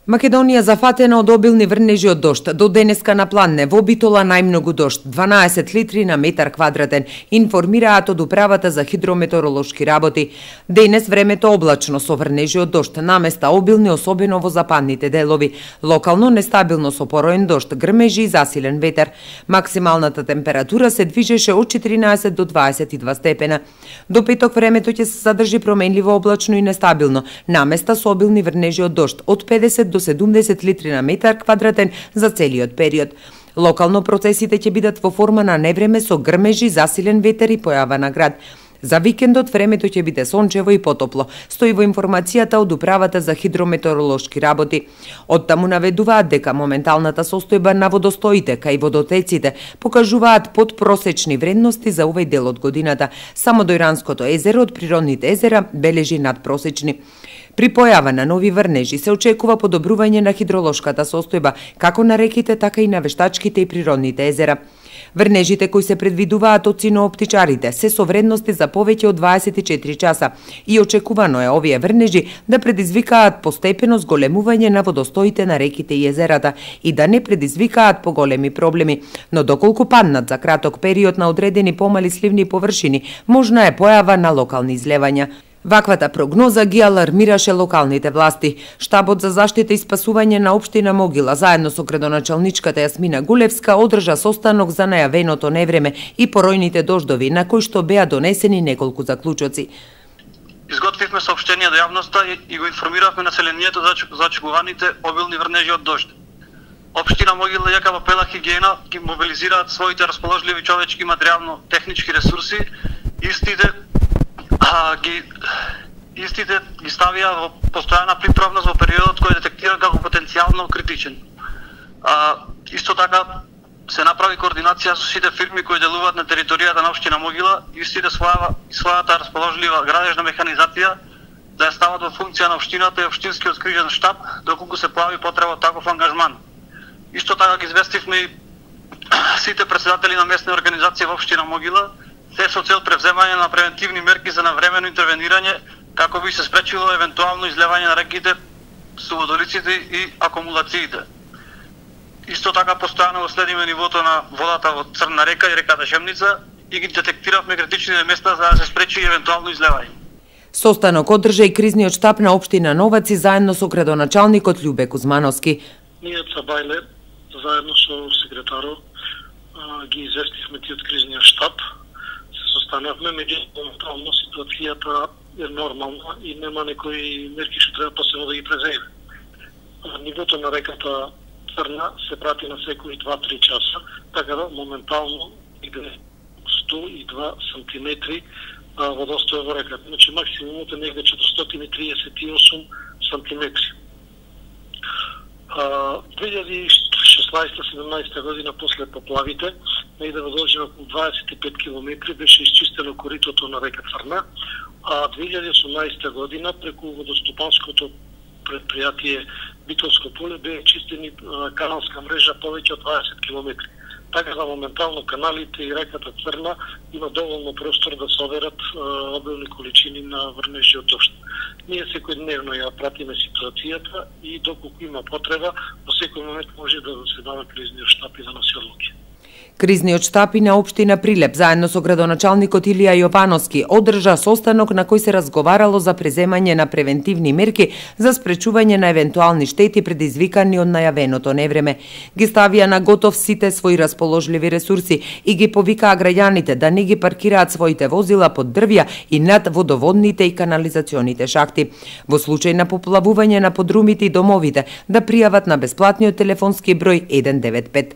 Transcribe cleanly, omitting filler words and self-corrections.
Македонија зафатена од обилни врнежи од дожд. До денеска на Планне во Битола најмногу дожд, 12 литри на метар квадратен, информираат од Управата за хидрометеоролошки работи. Денес времето облачно со врнежи од дожд, наместа обилни особено во западните делови. Локално нестабилно со пороен дожд, грмежи и засилен ветер. Максималната температура се движеше од 14 до 22 степена. До петок времето ќе се задржи променливо облачно и нестабилно, наместа со обилни врнежи од дожд, од 50 до 70 литри на метар квадратен за целиот период. Локално процесите ќе бидат во форма на невреме со грмежи, засилен ветер и појава на град. За викендот времето ќе биде сончево и потопло, стои во информацијата од Управата за хидрометеоролошки работи. Оттаму наведуваат дека моменталната состојба на водостоите кај водотеците покажуваат подпросечни вредности за овој дел од годината. Само до Иранското езеро од природните езера бележи надпросечни. При појава на нови врнежи се очекува подобрување на хидролошката состојба, како на реките, така и на вештачките и природните езера. Врнежите кои се предвидуваат од синооптичарите се со вредности за повеќе од 24 часа и очекувано е овие врнежи да предизвикаат постепено зголемување на водостоите на реките и езерата и да не предизвикаат поголеми проблеми, но доколку паднат за краток период на одредени помали сливни површини, можна е појава на локални излевања. Ваквата прогноза ги алармираше локалните власти. Штабот за заштита и спасување на општина Могила заедно со градоначалничката Јасмина Гулевска одржа состанок за најавеното невреме и поројните дождови, на кои што беа донесени неколку заклучоци. Изготвивме соопштение до јавноста и го информиравме населението за очекуваните обилни врнежи од дожд. Општина Могила јака во пела хигиена ги мобилизираат своите расположливи човечки материјално-технички ресурси, Истите ги ставија во постојана приправност во периодот кој детектира како потенцијално критичен. Исто така се направи координација со сите фирми кои делуваат на територијата на општина Могила, истите својата расположлива градежна механизација да ја стават во функција на општината и општинскиот кризен штаб доколку се појави потреба од таков ангажман. Исто така ги известивме и сите претседатели на местни организации во општина Могила, се со цел превземање на превентивни мерки за навремено интервенирање како би се спречило евентуално излевање на реките, суводолиците и акумулациите. Исто така постојано го следиме нивото на водата во Црна река и реката Шемница и ги детектиравме критичните места за да се спречи евентуално излевање. Состанок одржа и кризниот штаб на општина Новаци заедно со градоначалникот Љубе Кузмановски. Ние Цабајле заедно со секретарот ги известивме тиот кризниот штаб. Состанавме, меѓутоа ситуацијата е нормална и нема некои мерки што треба посебно да ги преземе. Нивото на реката Црна се прати на секои 2-3 часа, така да моментално иде 102 сантиметри водостоја во реката. Значи максимумот е негде 438 сантиметри. 2016-17 година после поплавите, негде во должина околу 25 км беше исчистено коритото на река Црна, а 2018 година преку водостопанското предпријатие Битолско поле беа чистени каналска мрежа повеќе од 20 км. Така да моментално каналите и реката Црна има доволно простор да се оберат обилни количини на врнежи од дожд. Ние секојдневно ја пратиме ситуацијата и доколку има потреба, во секој момент може да се дава кризниот штаб и да носи одлуки. Кризниот штаб и на општина Прилеп заедно со градоначалникот Илија Јовановски одржа состанок на кој се разговарало за преземање на превентивни мерки за спречување на евентуални штети предизвикани од најавеното невреме. Ги ставија на готов сите своји расположливи ресурси и ги повикаа граѓаните да не ги паркираат своите возила под дрвја и над водоводните и канализационите шахти. Во случај на поплавување на подрумите и домовите да пријават на бесплатниот телефонски број 195.